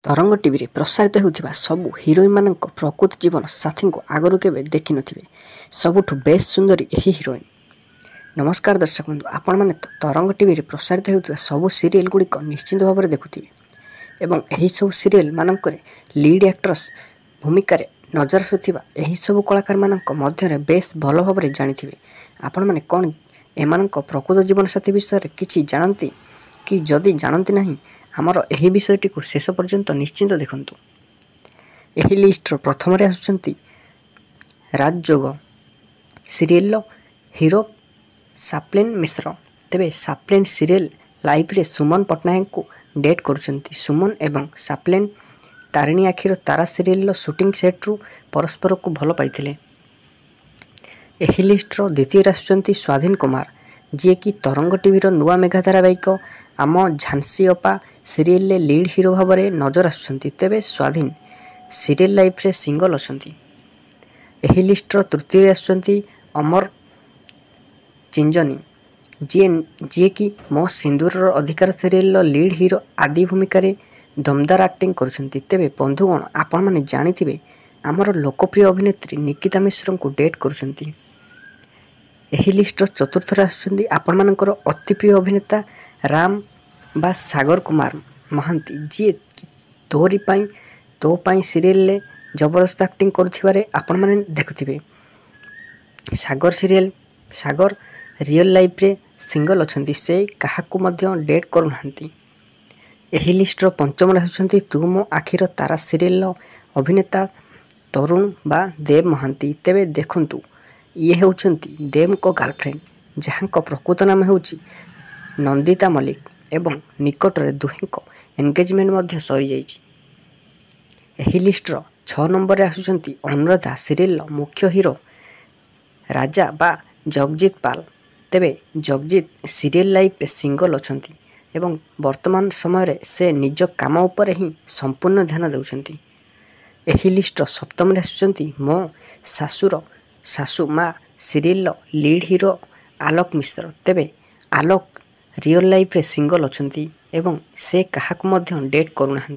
ତରଙ୍ଗ ଟିଭିରେ ପ୍ରସାରିତ ହେଉଥିବା ସବୁ ହିରୋଇନମାନଙ୍କ ପ୍ରକୃତ ଜୀବନ ସାଥୀଙ୍କୁ ଆଗରୁ କେବେ ଦେଖିନଥିବେ। ସବୁଠୁ ବେଶ୍ ସୁନ୍ଦରୀ ଏହି ହିରୋଇନ୍। ନମସ୍କାର ଦର୍ଶକ ବନ୍ଧୁ, ଆପଣମାନେ ତ ତରଙ୍ଗ ଟିଭିରେ ପ୍ରସାରିତ ହେଉଥିବା ସବୁ ସିରିଏଲ୍ ଗୁଡ଼ିକ ନିଶ୍ଚିତ ଭାବରେ ଦେଖୁଥିବେ ଏବଂ ଏହିସବୁ ସିରିଏଲ୍ ମାନଙ୍କରେ ଲିଡ୍ ଆକ୍ଟ୍ରସ୍ ଭୂମିକାରେ ନଜର ଆସୁଥିବା ଏହିସବୁ କଳାକାରମାନଙ୍କ ମଧ୍ୟରେ ବେଶ୍ ଭଲ ଭାବରେ ଜାଣିଥିବେ। ଆପଣମାନେ କ'ଣ ଏମାନଙ୍କ ପ୍ରକୃତ ଜୀବନସାଥୀ ବିଷୟରେ କିଛି ଜାଣନ୍ତି କି? ଯଦି ଜାଣନ୍ତି ନାହିଁ, ଆମର ଏହି ବିଷୟଟିକୁ ଶେଷ ପର୍ଯ୍ୟନ୍ତ ନିଶ୍ଚିତ ଦେଖନ୍ତୁ। ଏହି ଲିଷ୍ଟର ପ୍ରଥମରେ ଆସୁଛନ୍ତି ରାଜଯୋଗ ସିରିଏଲର ହିରୋ ସାପ୍ଲିନ୍ ମିଶ୍ର। ତେବେ ସାପ୍ଲିନ୍ ସିରିଏଲ୍ ଲାଇଫରେ ସୁମନ ପଟ୍ଟନାୟକଙ୍କୁ ଡେଟ୍ କରୁଛନ୍ତି। ସୁମନ ଏବଂ ସାପ୍ଲିନ୍ ତାରିଣୀ ଆଖିର ତାରା ସିରିଏଲର ସୁଟିଂ ସେଟ୍ରୁ ପରସ୍ପରକୁ ଭଲ ପାଇଥିଲେ। ଏହି ଲିଷ୍ଟର ଦ୍ୱିତୀୟରେ ଆସୁଛନ୍ତି ସ୍ୱାଧୀନ କୁମାର, ଯିଏକି ତରଙ୍ଗ ଟିଭିର ନୂଆ ମେଗା ଧାରାବାହିକ ଆମ ଝାନ୍ସୀ ଅପା ସିରିଏଲରେ ଲିଡ୍ ହିରୋ ଭାବରେ ନଜର ଆସୁଛନ୍ତି। ତେବେ ସ୍ୱାଧୀନ ସିରିଏଲ୍ ଲାଇଫରେ ସିଙ୍ଗଲ ଅଛନ୍ତି। ଏହି ଲିଷ୍ଟର ତୃତୀୟରେ ଆସୁଛନ୍ତି ଅମର ଚିଞ୍ଜନୀ, ଯିଏକି ମୋ ସିନ୍ଦୁରର ଅଧିକାର ସିରିଏଲର ଲିଡ୍ ହିରୋ ଆଦି ଭୂମିକାରେ ଦମଦାର ଆକ୍ଟିଂ କରୁଛନ୍ତି। ତେବେ ବନ୍ଧୁଗଣ, ଆପଣମାନେ ଜାଣିଥିବେ ଆମର ଲୋକପ୍ରିୟ ଅଭିନେତ୍ରୀ ନିକିତା ମିଶ୍ରଙ୍କୁ ଡେଟ୍ କରୁଛନ୍ତି। ଏହି ଲିଷ୍ଟର ଚତୁର୍ଥରେ ଆସୁଛନ୍ତି ଆପଣମାନଙ୍କର ଅତି ପ୍ରିୟ ଅଭିନେତା ରାମ ବା ସାଗର କୁମାର ମହାନ୍ତି, ଯିଏ ତୋରି ପାଇଁ ତୋ ପାଇଁ ସିରିଏଲରେ ଜବରଦସ୍ତ ଆକ୍ଟିଂ କରୁଥିବାରେ ଆପଣମାନେ ଦେଖୁଥିବେ। ସାଗର ରିଅଲ୍ ଲାଇଫରେ ସିଙ୍ଗଲ ଅଛନ୍ତି, ସେ କାହାକୁ ମଧ୍ୟ ଡେଟ୍ କରୁନାହାନ୍ତି। ଏହି ଲିଷ୍ଟର ପଞ୍ଚମରେ ଆସୁଛନ୍ତି ତୁ ମୋ ଆଖିର ତାରା ସିରିଏଲର ଅଭିନେତା ତରୁଣ ବା ଦେବ ମହାନ୍ତି। ତେବେ ଦେଖନ୍ତୁ, ଇଏ ହେଉଛନ୍ତି ଦେବଙ୍କ ଗାର୍ଲଫ୍ରେଣ୍ଡ, ଯାହାଙ୍କ ପ୍ରକୃତ ନାମ ହେଉଛି ନନ୍ଦିତା ମଲ୍ଲିକ ଏବଂ ନିକଟରେ ଦୁହେଁଙ୍କ ଏନଗେଜମେଣ୍ଟ ମଧ୍ୟ ସରିଯାଇଛି। ଏହି ଲିଷ୍ଟର 6 ନମ୍ବରରେ ଆସୁଛନ୍ତି ଅନୁରାଧା ସିରିଏଲର ମୁଖ୍ୟ ହିରୋ ରାଜା ବା ଜଗଜିତ ପାଲ। ତେବେ ଜଗଜିତ ସିରିଏଲ୍ ଲାଇଫରେ ସିଙ୍ଗଲ ଅଛନ୍ତି ଏବଂ ବର୍ତ୍ତମାନ ସମୟରେ ସେ ନିଜ କାମ ଉପରେ ହିଁ ସମ୍ପୂର୍ଣ୍ଣ ଧ୍ୟାନ ଦେଉଛନ୍ତି। ଏହି ଲିଷ୍ଟର ସପ୍ତମରେ ଆସୁଛନ୍ତି ମୋ ଶାଶୁର ଶାଶୁ ମା ସିରିଏଲର ଲିଡ୍ ହିରୋ ଆଲୋକ ମିଶ୍ର। ତେବେ ଆଲୋକ ରିଅଲ୍ ଲାଇଫରେ ସିଙ୍ଗଲ ଅଛନ୍ତି ଏବଂ ସେ କାହାକୁ ମଧ୍ୟ ଡେଟ୍ କରୁନାହାନ୍ତି।